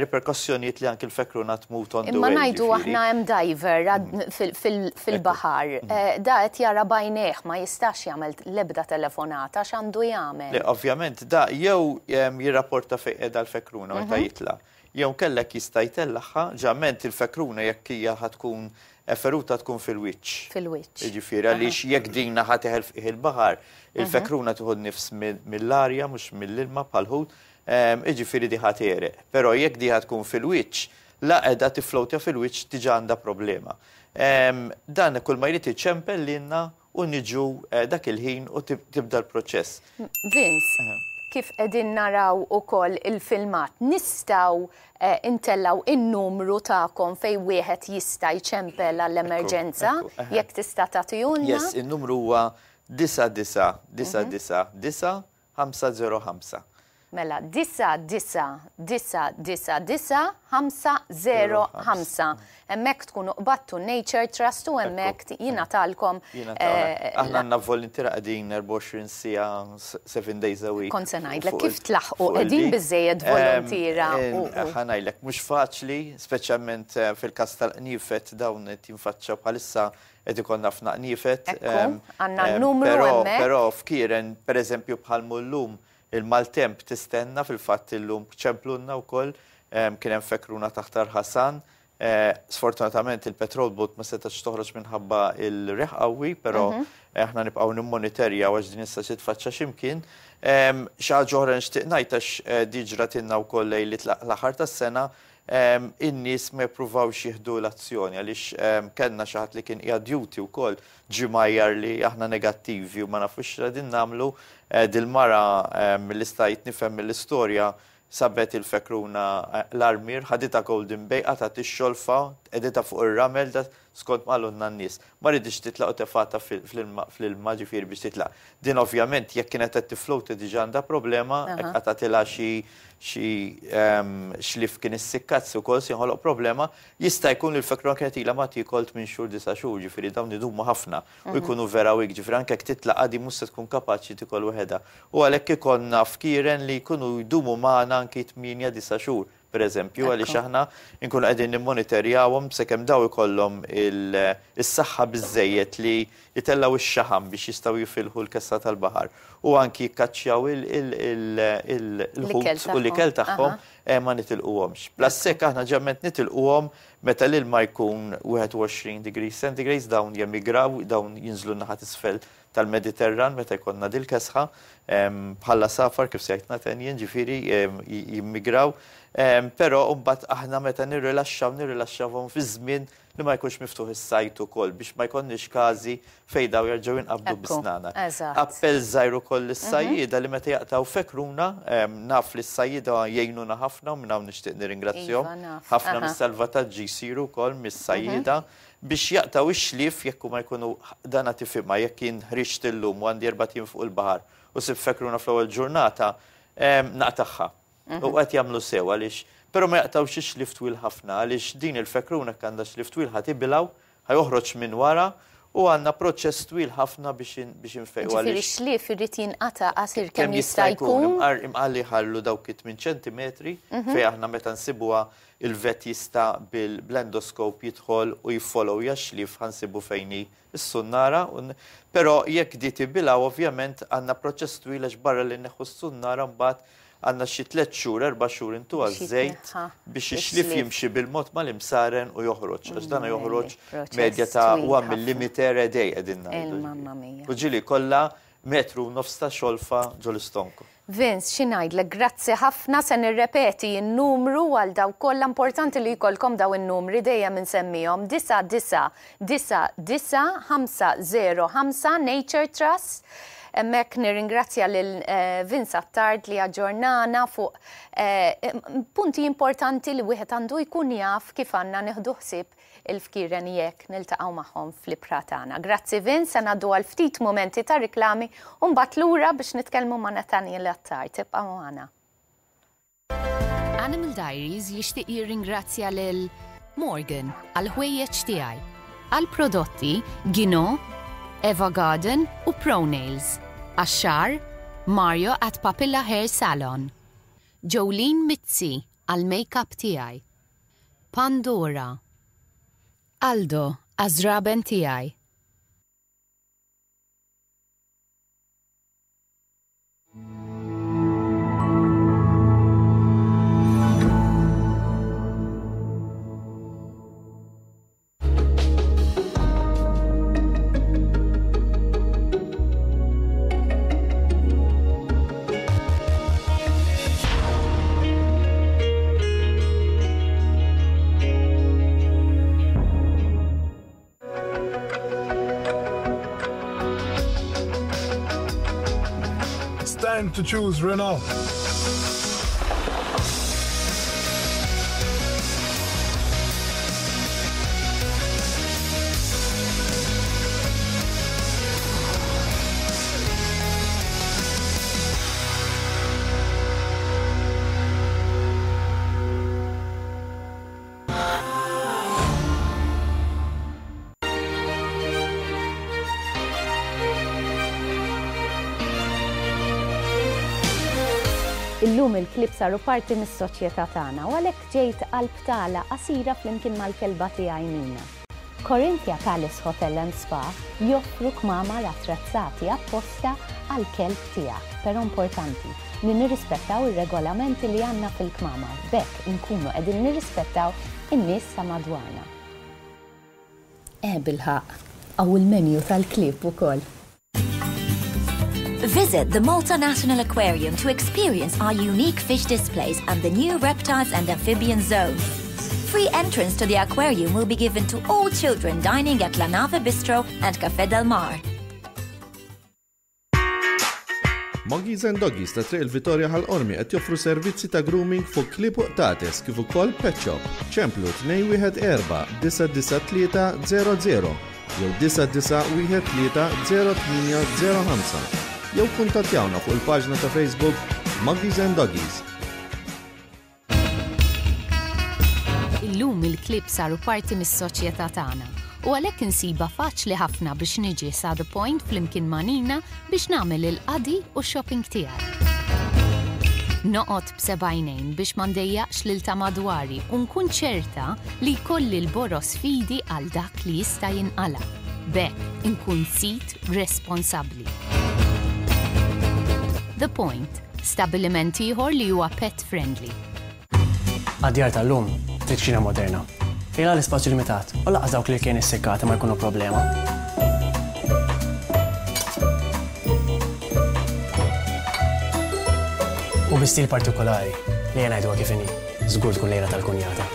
riperkossjonijiet li anki l-fekruna tmut on the way. Imma ngħidu aħna hemm diver fil-baħar, da qed jara b'għajnejh ma jistax jagħmel l-ebda telefonata, x'għandu jagħmel? Le, ovvjament da jew jirrapporta fejn qiegħda l-fekruna meta jitla'. Jew kellek jista' jtellagħha, ġament il-fekruna jekk hija ħa tkun feruta tkun fil-wiċċ. Fil-wiċċ. Jiġifieri għaliex jekk din ħa teħel f'qiegħ il-baħar, il-fekruna tieħu n-nifs mill-arja mhux mill-ilma bħall-ħut, jiġifieri di ħa tegħreq. Però jekk di ħa tkun fil-wiċċ, la qiegħda tifflowtja fil-wiċċ diġà għandha problema. Dan kull ma jrid iċempel lilna u niġu dak il-ħin u tibda l-proċess. Vince, kif qegħdin naraw ukoll il-filmat, nistgħu ntellgħu in-numru tagħkom fejn wieħed jista' jċempel għall-emerġenza, jekk tista' tagħtihulna? Yes, in-numru huwa 9999 9. 505. Mela, 99999 505. Hemmhekk tkunu qbadtu Nature Trust u hemmhekk jingħatalkom. Aħna għandna voluntiera qegħdin 24 siegħa 7 days a week. Kont se ngħidlek kif tlaħqu qegħdin biżejjed voluntiera. Ħa ngħidlek mhux faċli, speċjalment fil-każ tal-qniefed dawn qed jinfaċċaw bħalissa qed ikollna ħafna qniefed. Għandna n-numru hemmhekk. Però fkieren pereżempju bħal mullum il-maltemp tistenna fil-fatt illum ċemplunna wkoll kien hemm fekruna taħt Ħasan. Sfortunatament il-petrol boat ma setax toħroġ minħabba il-riħ qawwi, però aħna nibqgħu nimmonitorjaw għax din issa xi tfaċċa x'imkien. Xi ħaġa oħra nixtieq ngħid għax di ġratilna wkoll lejliet l-aħħar tas-sena, in-nies ma jippruvawx jieħdu l-azzjoni għaliex kellna xi ħadd li kien qiegħed duty wkoll ġie mgħajjar li aħna negattivi u ma nafux x'qegħdin nagħmlu. Dil-mara milli stajt nifhem mill-istorja sabet il-fekruna l-armier, ħaditha Golden Bay, qatgħet ix-xolfa, qegħditha fuq ir-ramel, da skont ma qalulna n-nies. Ma riditx titlaq u tefgħatha fl-ilma ġifieri biex titlaq. Din ovvjament jekk kienet qed tifflowta diġà għandha problema, jekk qatgħatilha xi xi xlief kien issikkazz ukoll se jinħoloq problema. Jista' jkun li l-fekruna kienet ilha ma tiekol tmien xhur, disa' xhur, ġifieri dawn idumu ħafna u jkunu vera weak, ġifieri anke jekk titlaq għadi mhux se tkun kapaċi tikol waħedha. U għalhekk ikollna fkieren li jkunu jdumu magħna anki tmienja, disa' xhur, pereżempju, għaliex aħna nkunu qegħdin nimmonitorjawhom sakemm daw ikollhom is-saħħa biżżejjed li jtellgħu x-xaħam biex jistgħu jifilħu l-kessa tal-baħar u anki jikkaċċjaw il-ħut u l-ikel tagħhom ma nitilquhomx. Plus hekk aħna ġeneralment nitilquhom meta l-ilma jkun 21 degrees centigrade, dawn jemigraw, dawn jinżlu naħa t'isfel tal-Mediterran meta jkollna dil-kesħa, bħala safar kif sejt Nathaniel, ġifieri jimmigraw, però mbagħad aħna meta nirrilaxxaw nirrilaxxawhom fi żmien li ma jkunx miftuħ is-sajt ukoll biex ma jkollniex każi fejn daw jerġgħu jinqabdu bis-snana. Appell żgħir ukoll lis-sajjieda li meta jaqtgħu fekruna, naf li s-sajjieda jgħinuna ħafna u minn hawn nixtieq nirringrazzjahom. Ħafna mis-salvataġġi jsiru wkoll mis-sajjieda biex jaqtgħu ix-xlief jekk huma jkunu dana tifhimha jekk jien ħriġt illum u għandi erbat ijiem fuq il-baħar u sibt fekruna fl-ewwel ġurnata, naqtagħha. U qed jagħmlu sew għaliex però ma jaqtgħux ix-xlief twil ħafna għaliex din il-fekruna jekk għandha xlief twil ħa tibilgħu, ħa joħroġ minn wara u għandna proċess twil ħafna biex infejqu Ġifieri x-xlief irid jinqata' qasir kemm jista' jkun. Imqar li jħallu dawk it-8 ċentimetri fejn aħna meta nsibuha il-vet jista' bil-endoscope jidħol u jiffollowja x-xlief ħa nsibu fejn hi s-sunnara. Però jekk di tibilgħu ovvjament għandna proċess twil għax barra li nneħħu s-sunnara mbagħad għandna xi 3 xhur, 4 xhur intuha żejt biex ix-xlief jimxi bil-mod mal-imsaren u joħroġ. Għax dana joħroġ medja ta' 1 millimeter a day qegħdin ngħidu. U ġieli kollha metru u nofs ta' xolfa ġol-istonku. Vince, xi ngħidlek, grazzi ħafna, se nirrepeti n-numru għal dawk kollha, importanti li jkollkom daw in-numri dejjem insemmihom, 9 9 9 9 5 0 5 Nature Trust. Hemmhekk nirringrazzja lil Vince Attard li aġġornana fuq punti importanti li wieħed għandu jkun jaf kif għandna nieħdu ħsieb il-fkieren jekk niltaqgħu magħhom fl-ibħra tagħna. Grazzi Vince, se ngħaddu għal ftit mumenti ta' riklami u mbagħad lura biex nitkellmu ma' Nathaniel Attard. Tibqgħu magħna. Animal Diaries jixtieq jirringrazzja lil Morgan għal ħwejjeġ tiegħi, għal prodotti Gino, Eva Garden u Pronails, għax-xagħar Mario at Papilla Hair Salon, Jolene Mizzi għal make-up tiegħi, Pandora, Aldo għaż-żraben tiegħi. It's time to choose Renault. Illum il-klieb saru parti mis-soċjetà tagħna u għalhekk ġejt għal btala qasira flimkien mal-kelba tiegħi Nina. Corinthia Palace Hotel and Spa joffru kmamar attrezzati apposta għall-kelb tiegħek, però importanti li nirrispettaw ir-regolamenti li għandna fil-kmamar, b'hekk inkunu qegħdin nirrispettaw in-nies ta' madwarna. Eh bilħaqq, hawn il-menu tal-klieb ukoll. Visit the Malta National Aquarium to experience our unique fish displays and the new reptiles and amphibian zone. Free entrance to the aquarium will be given to all children dining at La Nave Bistro and Café Del Mar. Moggies and Doggies ta' Triq il-Vitorja Ħal Qormi qed joffru servizzi ta' grooming fuq klieb u qtates kif ukoll pet shop. Ċemplu 214 993 00 jew 9913 0805 jew kuntattjawna fuq il-paġna ta' Facebook Muggies and Doggies. Illum il-klieb saru parti mis-soċjetà tagħna u għalhekk insibha faċli ħafna biex niġi sa The Point flimkien ma' Nina biex nagħmel il-qadi u x-shopping tiegħi. Noqgħod b'seba' għajnejn biex ma ndejjaqx lil ta' madwari u nkun ċerta li jkolli l-boroż f'idi għal dak li jista' jinqala'. B'hekk inkun sid responsabbli. The Point, stabbiliment ieħor li huwa pet friendly. Għad-djar tal-lum trid kċina moderna, fejn la l-ispazju limitat u lanqas dawk l-irkejn issikkati ma jkunu problema. U bi stil partikolari, li ejja ngħiduha kif inhi, żgur tkun lejla tal-kunjata.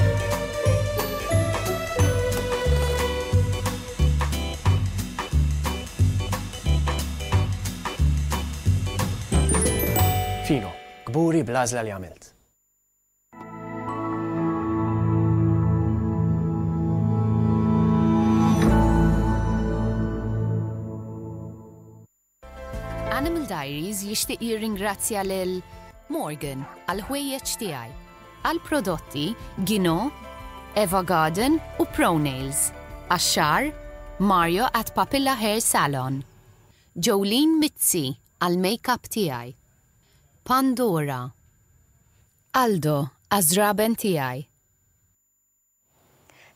Fino, kburi bl-għażla li għamilt. Animal Diaries jixtieq jirringrazzja lil Morgan għal ħwejjeġ tiegħi, għal prodotti Gino, Eva Garden u Pronails, għax-xagħar Mario at Papilla Hair Salon, Jolene Mizzi għal make-up tiegħi, Pandora, Aldo għaż-żraben tiegħi.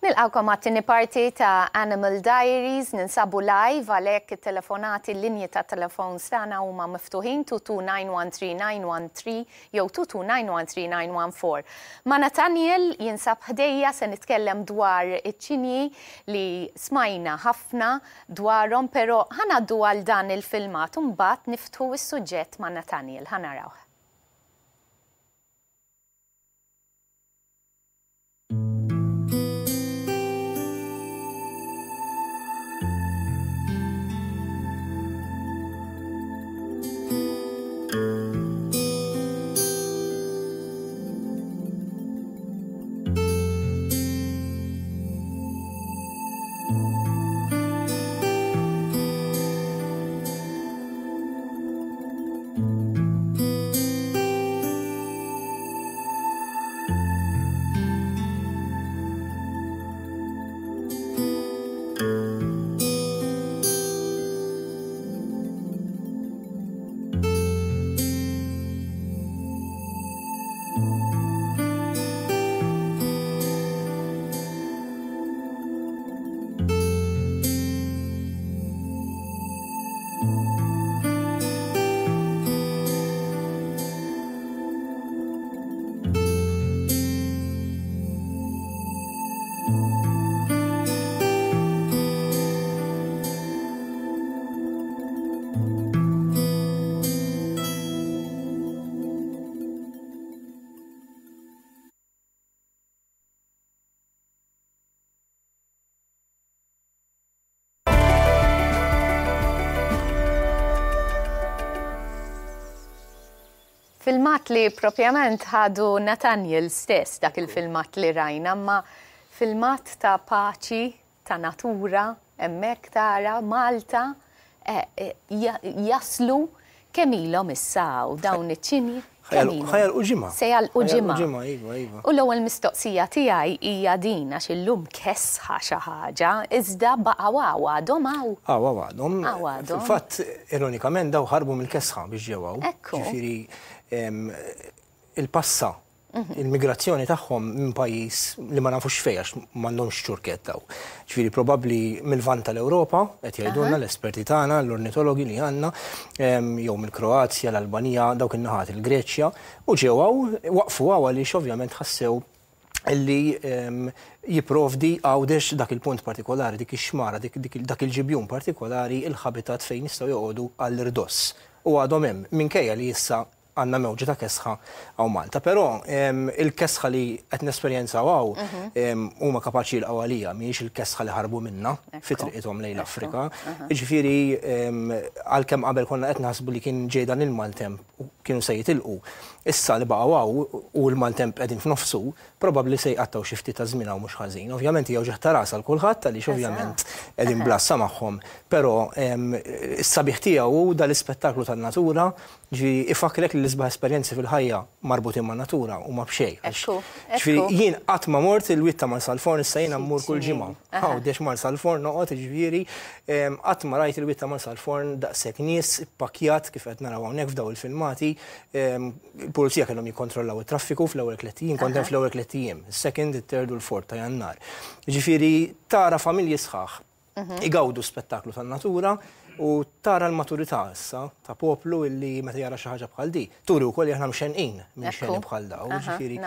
Nilqgħukom għat-tieni parti ta' Animal Diaries, ninsabu live għalhekk it-telefonati, l-linji ta' telefons tagħna huma miftuħin 22913 jew 22913 Ma' Nathaniel jinsab ħdejja se nitkellem dwar iċ-ċinji li smajna ħafna dwarhom però ħa ngħaddu għal dan il-filmat u mbagħad niftħu s-suġġett ma' Nathaniel. Ħa narawh. Filmat li propjament ħadu Nathaniel stess dak il-filmat li rajna, ma filmat ta' paċi, ta' natura, hemmhekk tara Malta eh, eh, jaslu kemm ilhom issa hawn dawn iċ-ċinji? Ħa jagħlqu ġimgħa. Se jagħlqu ġimgħa. Ġimgħa, iva, iva. U l-ewwel mistoqsija tiegħi hija din għax illum kesħa xi ħaġa, iżda baqgħu hawn għadhom hawn. Hawn hawn għadhom. Hawn għadhom. Fil-fatt, ironikament dawn ħarbu mill-kesħa biex ġew hawn. Ekku. Ġifieri. il-passa il-migrazzjoni tagħhom minn pajjiż li ma nafux fejn għax m'għandhomx ċurkett hawn. Ġifieri probabbli mill-Lvant tal-Ewropa, qed jgħidulna l-esperti tagħna, l-ornitologi li għandna, jew mill-Kroazja, l-Albanija, dawk in-naħat il-Greċja, u ġew hawn, waqfu hawn għaliex ovvjament ħassew li jipprovdi Għawdex dak il-punt partikolari, dik ix-xmara, dak il-ġibjun partikolari, il-ħabitat fejn jistgħu joqogħdu għall-irdoss. U għadhom hemm, minkejja li issa għandna mewġa ta' kesħa hawn Malta. Però il-kesħa li qed nesperjenzaw hawn huma kapaċi jilqgħu għalija, mhijiex il-kesħa li ħarbu minnha fi triqithom lejn l-Afrika. Jiġifieri għalkemm qabel konna qed naħsbu li kien ġej dan il-maltemp u kienu se jitilqu, issa li baqgħu hawn u l-maltemp qegħdin f'nofsu, probabbli se jqattgħu xi ftit ta' żmien hawn mhux ħażin. Ovvjament hija wġigħ ta' ras għal kulħadd għaliex ovvjament qegħdin bl-għassa magħhom, però s-sabiħ tiegħu hu dal-ispettaklu tan-natura, ġifieri ifakkrek li l-isbaħ esperjenzi fil-ħajja marbutin man-natura huma b'xejn. Ġifieri jien qatt ma mort il-wied ta' Marsalforn, issa jiena mmur kull ġimgħa. Għawdex Marsalforn noqgħod, jiġifieri qatt ma rajt il-wied ta' Marsalforn daqshekk nies ippakkjat kif qed naraw hawnhekk f'dawn il-filmati. Il-pulizija kellhom jikkontrollaw it-traffiku fl-ewwel tlett ijiem, kont hemm fl-ewwel tlett ijiem, is-second, it-third u l-fourth ta' Jannar. Jiġifieri tara familji sħaħ igawdu spettaklu tan-natura u tara l-maturità issa ta' poplu illi meta jara xi ħaġa bħal di. Turi wkoll li aħna mxenqin minn xeni bħal daw, jiġifieri.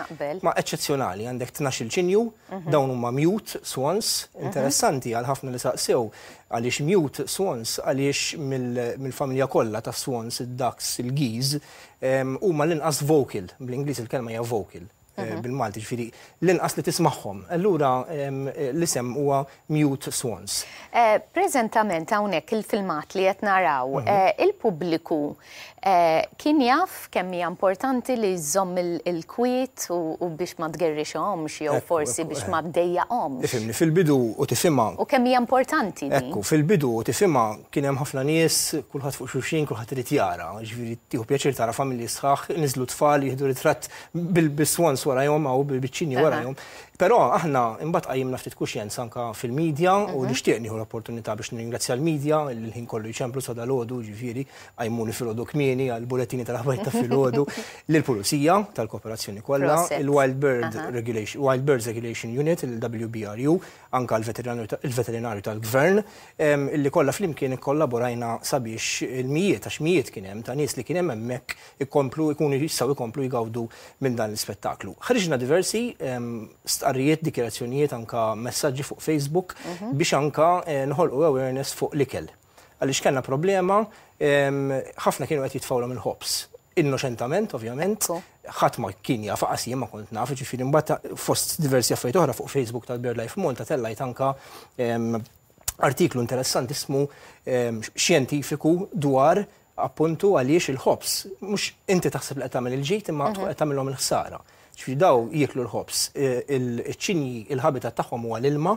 Ma eċċezzjonali, għandek 12-il ċinju, dawn huma mute swans, interessanti għal ħafna li saqsew Għaliex mute swans? Għaliex mill-familja kollha tas-swans, id-ducks, il-geese, huma l-inqas vocal, bl-Ingliż il-kelma hija vocal, bil-Malti ġifieri l-inqas li tismagħhom. Allura l-isem huwa mute swans. Preżentament hawnhekk il-filmat li qed naraw, il-pubbliku Kien jaf kemm hija importanti li żżomm il-kwiet u biex ma tgerrixhomx jew forsi biex ma ddejjaqhomx. Ifhimni, fil-bidu u tifhimha. U kemm hija importanti din. Ekku, fil-bidu u tifhimha kien hemm ħafna nies, kulħadd fuq xulxin, kulħadd irid jara. Jiġifieri tieħu pjaċir tara familji sħaħ, niżlu tfal jieħdu ritratt bis-swans warajhom hawn, bil-biċċini warajhom. Però aħna imbagħad qajjimna ftit kuxjenza anke fil-media u nixtieq nieħu l-opportunità biex nirringrazzja l-media li l-ħin kollu jċemplu sa dalgħodu, jiġifieri qajmuni filgħodu kmieni għall-bulettini tal-aħbarijiet ta' filgħodu, lill-Pulizija tal-kooperazzjoni kollha, il-Wild Bird Regulation, Wild Birds Regulation Unit, il-WBRU, anke l-veterinarju tal-Gvern, illi kollha flimkien ikkollaborajna sabiex il-mijiet, għax mijiet kien hemm ta' nies li kien hemm hemmhekk ikomplu jkunu jistgħu jkomplu jgawdu minn dan l-ispettaklu. Ħriġna diversi stqarrijiet, dikjarazzjonijiet, anka messaġġi fuq Facebook biex anka nħolqu awareness fuq l-ikel. Għaliex kellna problema, ħafna kienu qed jitfgħulhom il-ħobż. Innoċentament, ovvjament, ħadd ma kien jaf, qas jien ma kont naf, ġifieri mbagħad fost diversi affarijiet oħra fuq Facebook tal-BirdLife Malta tellajt anka artiklu interessantissmu xjentifiku dwar Appuntu għaliex il-ħobż, mhux inti taħseb li qed tagħmel il-ġid imma tkun qed tagħmilhom il-ħsara. Ġifieri daw jieklu l-ħobż. Iċ-ċinji il-habitat tagħhom huwa l-ilma,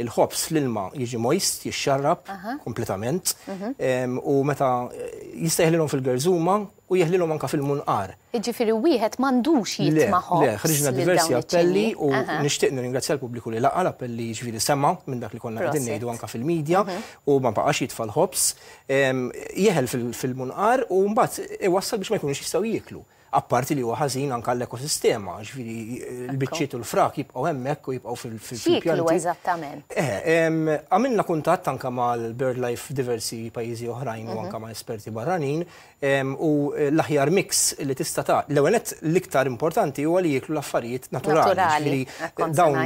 il-ħobż fl-ilma jiġi moist, jixxarrab kompletament u meta jista' jeħlilhom fil-gerżuma u jeħlilhom anke fil-munqar. Jiġifieri wieħed m'għandux jitma' ħobż. Le, ħriġna diversi appelli u nixtieq nirringrazzja l-pubbliku li laqa' l-appelli jiġifieri sema' minn dak li konna qegħdin ngħidu anke fil-media u ma baqax jitfa' l-ħobż. Jeħel fil-munqar u mbagħad iwassal biex ma jkunux jistgħu jieklu. Apparti li huwa ħażin anke għall-ekosistema, ġifieri l-biċċiet u l-frak jibqgħu hemmhekk u jibqgħu fil-pjanti. X'jieklu eżattament? Għamilna kuntatt anke mal-BirdLife f'diversi pajjiżi oħrajn u anke ma' esperti barranin U l-aħjar mix li tista' ta' l-ewwel nett l-iktar importanti huwa li jieklu l-affarijiet naturali. Ġifieri dawn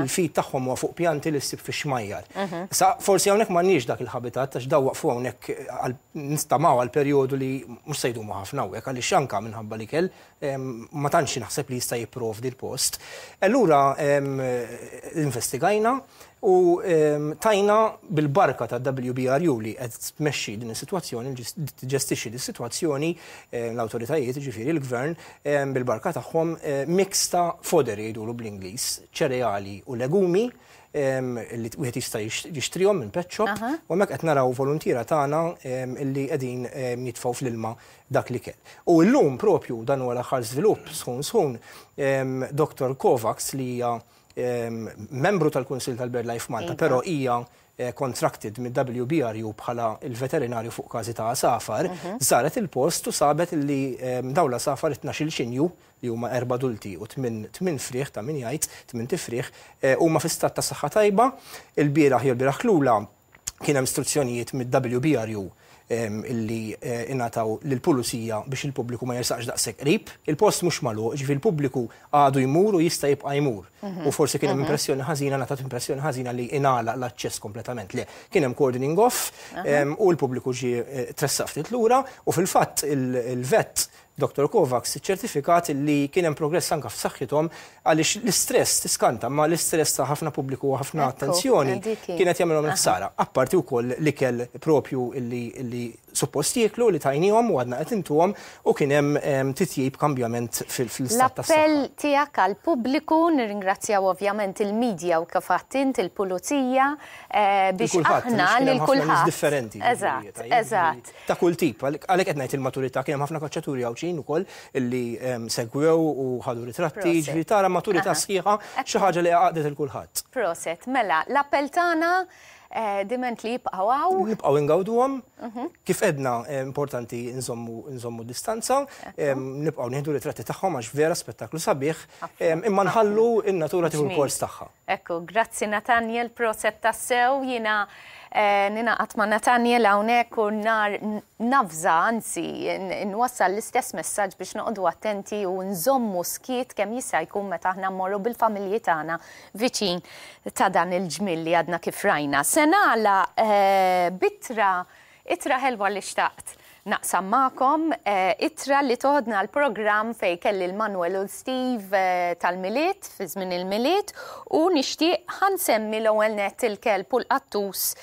il-feed tagħhom huwa fuq pjanti li ssib fix-xmajjar. Issa forsi hawnhekk m'għandniex dak il-habitat għax dawn waqfu hawnhekk nistamaw għal perjodu li mhux se jdumu ħafna hawnhekk għaliex anke minħabba l-ikel ma tantx naħseb li jista' jipprovdi l-post. Allura investigajna u tajna bil-barka ta' WBRU li qed tmexxi din is-sitwazzjoni, tiġestixxi din is-sitwazzjoni, l-awtoritajiet, jiġifieri l-gvern, bil-barka tagħhom mix ta' fodder jgħidulu bl-Ingliż, ċereali u legumi li wieħed jista' jixtrihom minn pet shop u hemmhekk qed naraw voluntiera tagħna li qegħdin jitfgħu fl-ilma dak l-ikel. U llum propju dan huwa l-aħħar żvilupp sħun sħun, Dottor Kovacs li hija membru tal-Kunsill tal-BirdLife Malta, però hija contracted mid-WBRU bħala l-veterinarju fuq każi ta' għasafar, żaret il-post u sabet li dawn l-għasafar it-tnax-il xinju, li huma erba' adulti u tminn frieħ ta' min jgħid, tmint ifrieħ, huma fi stat ta' saħħa tajba. Ilbieraħ jew ilbieraħ lula kien hemm struzzjonijiet mid-WBRU illi ingħataw lill-pulizija biex il-pubbliku ma jersaqx daqshekk qrib. Il-post mhux magħluq, jiġifieri l-pubbliku għadu jmur u jista' jibqa' jmur. U forsi kien hemm impressjoni ħażina, ngħatat impressjoni ħażina li ingħalaq l-aċċess kompletament. Le, kien hemm cordoning off u l-pubbliku ġie tressaq ftit lura u fil-fatt il-vet Dottor Kovacs iċċertifikat li kien hemm progress anke f'saħħithom għaliex l-istress, tiskanta, imma l-istress ta' ħafna pubbliku u ħafna attenzjoni kien qed jagħmilhom il-ħsara. Apparti wkoll l-ikel propju li suppost jieklu li tajniehom u għadna qed intuhom u kien hemm titjib kambjament fl-istat tas-saħħa. L-appell tiegħek għall-pubbliku, nirringrazzjaw ovvjament il-media u kif għedt int il-pulizija biex aħna lil kulħadd. Eżatt, eżatt. Ta' kull tip, għalhekk qed ngħid il-maturità, kien hemm ħafna kaċċaturi Għawdxin ukoll illi segwew u ħadu ritratti, jiġifieri tara maturità sħiħa, xi ħaġa li għaqdet il kulħadd. Proset, mela, l-appell tagħna diment li jibqgħu hawn. Nibqgħu ingawduhom, kif għedna importanti nżommu distanza, nibqgħu nieħdu ritratti tagħhom għax vera spettaklu sabiħ, imma nħallu n-natura tieħu l-kors tagħha. Ekku, grazzi Nathaniel, proset tassew, jiena ninaqat ma' Nathaniel hawnhekk u nar navża, anzi nwassal l-istess messaġġ biex noqogħdu attenti u nżommu skiet kemm jista' jkun meta aħna mmorru bil-familji tagħna viċin ta' dan il-ġmiel li għadna kif rajna. Se nagħlaq b'ittra Ittra ħelwa li xtaqt naqsam magħkom, ittra li toħodna għall-programm fejn kelli l-Manuel u l-Steve tal-Milied, fi żmien il-Milied, u nixtieq ħa nsemmi l-ewwel nett il-kelb u l-qattus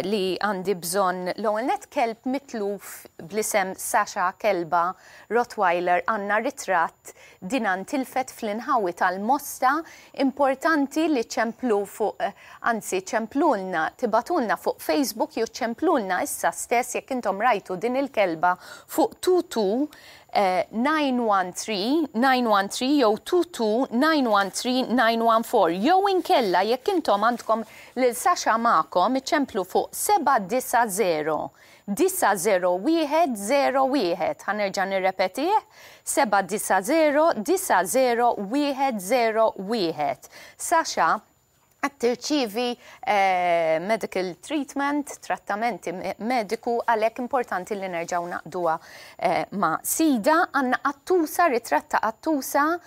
li għandi bżonn. L-ewwel nett kelb mitluf bl-isem Sasha kelba Rottweiler għandna ritratt Dina ntilfet fl-inħawi tal-Mosta, importanti li ċċemplu fuq, anzi ċemplulna, tibagħtulna fuq Facebook jew ċemplulna issa stess jekk intom rajtu din il-kelba fuq 22 913 913 jew 22 913 914 jew inkella jekk intom għandkom lil Sasha magħkom iċċemplu fuq 790 90101, ħa nerġa' nirrepetih, 790 90101. Sasha qed tirċievi medical treatment, trattamenti mediku, għalhekk importanti li nerġgħu naqduha ma' sida. Għandna qattusa, ritratt ta' qattusa.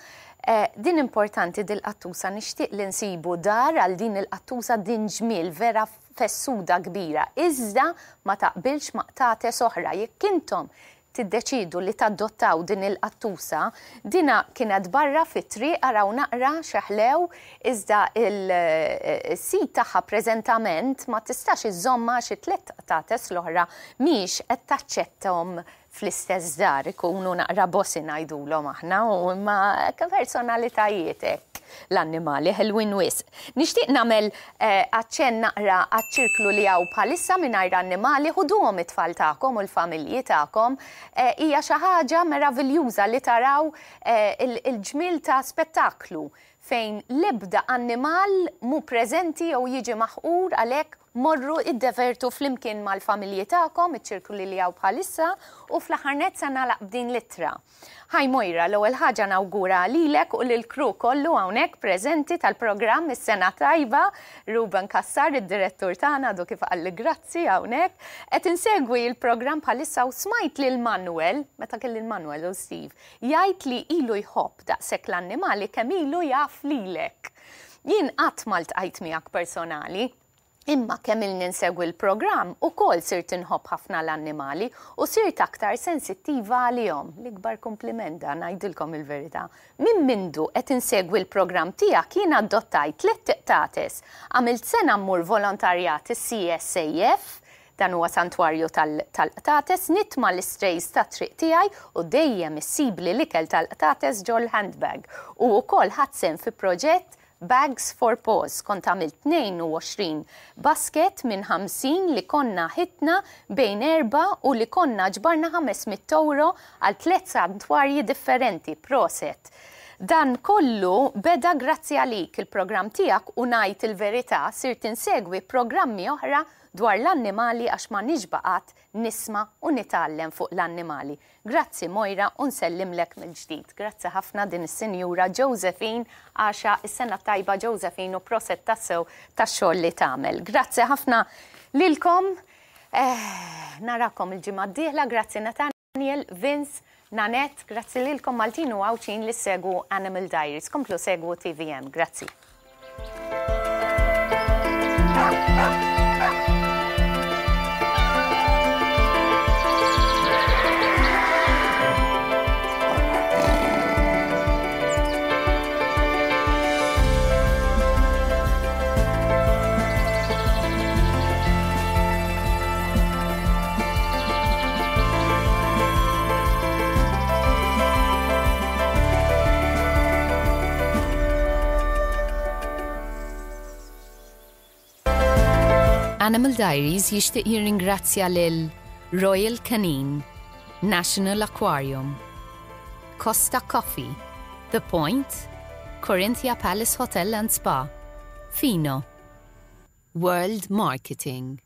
Din importanti dil-qattusa, nixtieq li nsibu dar għal din il-qattusa din ġmiel vera fessuda kbira, iżda ma taqbilx ma' qtates oħra. Jekk intom tiddeċiedu li tadottaw din il-qattusa, dina kienet barra fit-triq araw naqra x'eħlew, iżda il-sid tagħha preżentament ma tistax iżżommha għax it-tlett qtates l-oħra mhijiex qed taċċettahom fl-istess dar, ikunu naqra bossy ngħidulhom aħna, u imma personalitajiet hekk l-annimali ħelwin wisq. Nixtieq nagħmel aċċenn naqra għaċ-ċirklu li hawn bħalissa mingħajr annimali, ħuduhom it-tfal tagħkom u l-familji tagħkom. Hija xi ħaġa meraviljuża li taraw il-ġmiel ta' spettaklu fejn l-ebda annimal mhu preżenti jew jiġi maħqur għalhekk morru iddevertu flimkien mal-familji tagħkom, iċ-ċirkuli li hawn bħalissa, u fl-aħħar nett se nagħlaq b'din l-ittra. Hi Moira, l-ewwel ħaġa nawgura lilek u lill-crew kollu hawnhekk preżenti tal-programm is-sena tajba, Ruben Cassar, id-direttur tagħna għadu kif qalli grazzi hawnhekk. Qed insegwi l-programm bħalissa u smajt lil Manuel, meta kelli l-Manuel u Steve, Jgħid li ilu jħobb daqshekk l-annimali kemm ilu jaf lilek. Jien qatt ma ltqajt miegħek personali, imma kemm ilni nsegwi l-programm ukoll sirt inħobb ħafna l-annimali u sirt aktar sensittiva għalihom. L-ikbar kumpliment dan, ngħidilkom il-verità. Minn mindu qed insegwi l-programm tiegħek jien adottajt tlett iqtates. Għamilt sena mmur volontarjat is-CSAF, Dan huwa santwarju tal-qtates, nitma' l-istrays tat-triq tiegħi u dejjem issibli l-ikel tal-qtates ġol-handbag. U wkoll ħadt sehem fi proġett Bags for Paws. Kont għamilt 22 basket minn 50 li konna ħitna bejn erbgħa u li konna ġbarna 500 ewro għal tliet santwarji differenti. Proset! Dan kollu beda grazzi għalik il-programm tiegħek u ngħid il-verità sirt insegwi programmi oħra dwar l-annimali għax ma nixba' qatt nisma' u nitgħallem fuq l-annimali. Grazzi Moira u nsellimlek mill-ġdid. Grazzi ħafna din is-Sinjura Josephine Għaxa, is-sena t-tajba Josephine u proset tassew tax-xogħol li tagħmel. Grazzi ħafna lilkom. Eh, narakom il-ġimgħa d-dieħla, grazzi Nathaniel, Vince, Nanette, grazzi lilkom Maltin u Għawdxin li ssegwu Animal Diaries. Komplu segwu TVM. Grazzi. Animal Diaries jixtieq jirringrazzja lil Royal Canin, National Aquarium, Costa Coffee, The Point, Corinthia Palace Hotel and Spa, Fino, World Marketing.